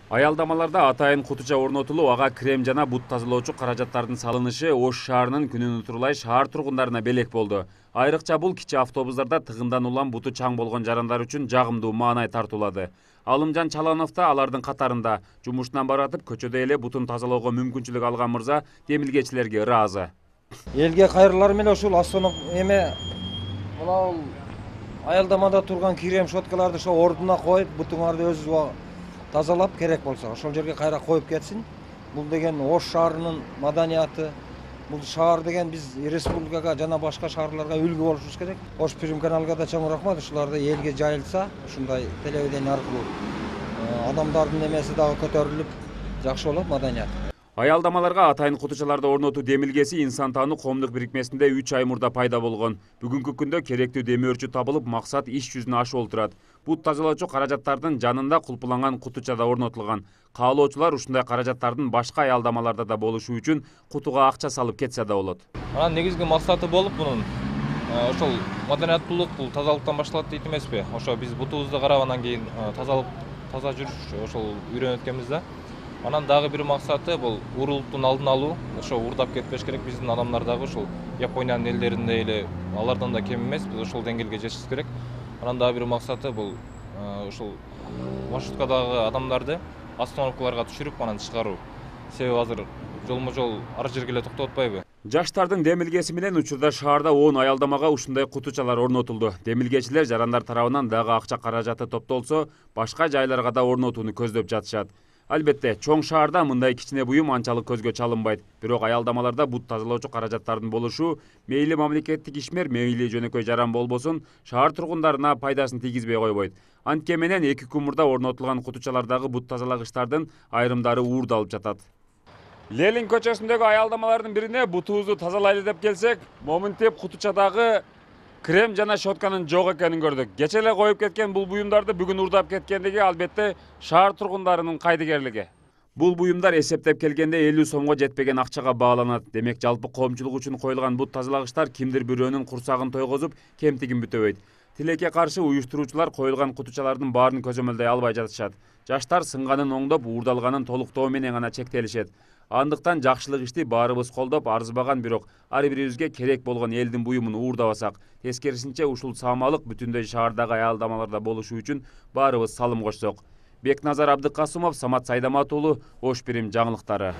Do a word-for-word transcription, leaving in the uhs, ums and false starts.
Аялдамаларда атайын кутуча орнотулуп, ага крем жана бут тазалоочу каражаттардын салынышы Ош шаарынын күнүн утурлай шаар тургундарына белек болду. Айрыкча бул кичи автобустарда тыгындан улам буту чаң болгон жарандар үчүн жагымдуу маанай тартуулады. Алымжан Чаланов да алардын катарында. Жумушунан баратып көчөдө эле бутун тазалоого мүмкүнчүлүк алган мырза демилгечилерге ыраазы. Элге кайрылар менен ушул астана эме мына аялдамада турган крем щеткаларды ошо ордуна коюп, бутуңарды өзү тазалап, керек болсо ошол жерге кайра коюп кетсин. Бул деген Ош шаарынын маданияты. Бул шаар деген биз республикага жана башка шаарларга үлгү болушубуз керек. Ош Прим каналга да чоң рахмат. Ушуларды элге жайылса, ушундай телевидение аркылуу адамдардын эмеси дагы көтөрүлүп, жакшы болот маданият. Аялдамаларга атайын кутучаларды орнотуу демилгеси инсан таануу коомдук бирикмесинде үч ай мурда пайда болгон. Бүгүнкү күндө керектүү демөөрчү табылып, максат иш жүзүнө ашып олтурат. Бут тазалоочу каражаттардын жанында кулпуланган кутуча да орнотулган. Каалоочулар ушундай каражаттардын башка аялдамаларда да болушу үчүн кутуга акча салып кетсе да болот. Анан негизги максаты болуп мунун ошол маданияттуулук, бул тазалыктан башталат дейт эмеспи? Ошо биз бутубузду карап анан кийин тазалык таза жүрүш ошол үйрөнүп өткөнбүз да. Анан дагы бир максаты бул уурулуктун алдын алуу. Ошо уурдап кетпеш керек. Биздин адамдар дагы ушул Япониянын элдериндей эле алардан да кем эмес. Биз ошол деңгээлге жетишибиз керек. Анан дагы бир максаты бул ушул маршруткадагы адамдарды остановкаларга түшүрүп анан чыгаруу. Себеби азыр жолмо-жол ар жерге эле токтоп атпайбы? Жаштардын демилгеси менен учурда шаарда он аялдамага ушундай кутучалар орнотулду. Демилгечилер жарандар тарабынан дагы акча каражаты топтолсо, башка жайларга да орнотууну көздөп жатышат. Албетте, чоң шаарда мындай кичине буюм анчалык көзгө чалынбайт. Бирок аялдамаларда бут тазалоочу каражаттардын болушу мейли мамлекеттик ишмер, мейли жөнөкөй жаран болбосун, шаар тургундарына пайдасын тийгизбей койбойт. Антке менен эки күн мурда орнотулган кутучалардагы бут тазалагычтардын айрымдары уурду алып жатат. Ленин көчөсүндөгү аялдамалардын бирине бутубузду тазалайлы деп келсек, моминтип кутучадагы крем жана щетканын жок экенин көрдүк. Кече эле коюп кеткен бул буюмдарды бүгүн уурдап кеткендиги албетте шаар тургундарынын кайдыгерлиги. Бул буюмдар эсептеп келгенде элүү сомго жетпеген акчага бааланат. Демек жалпы коомчулук үчүн коюлган бут тазалагычтар кимдир бирөөнүн курсагын тойгозуп, кемтигин бүтөбөйт. Тилекке каршы уюштуруучулар коюлган кутучалардын баарын көзөмөлдөй албай жатышат. Жаштар сынганын оңдоп, уурдалганын толуктоо менен гана чектелишет. Андыктан жакшылык ишти баарыбыз колдоп, арзыбаган, бирок ар бирибизге керек болгон элдин буюмун уурдабасак, тескерисинче ушул саамалык бүтүндөй шаардагы аялдамаларда болушу үчүн баарыбыз салым кошсок. Бекназар Абдыкасымов, Самат Сайдамат уулу, Ош Прим жаңылыктары.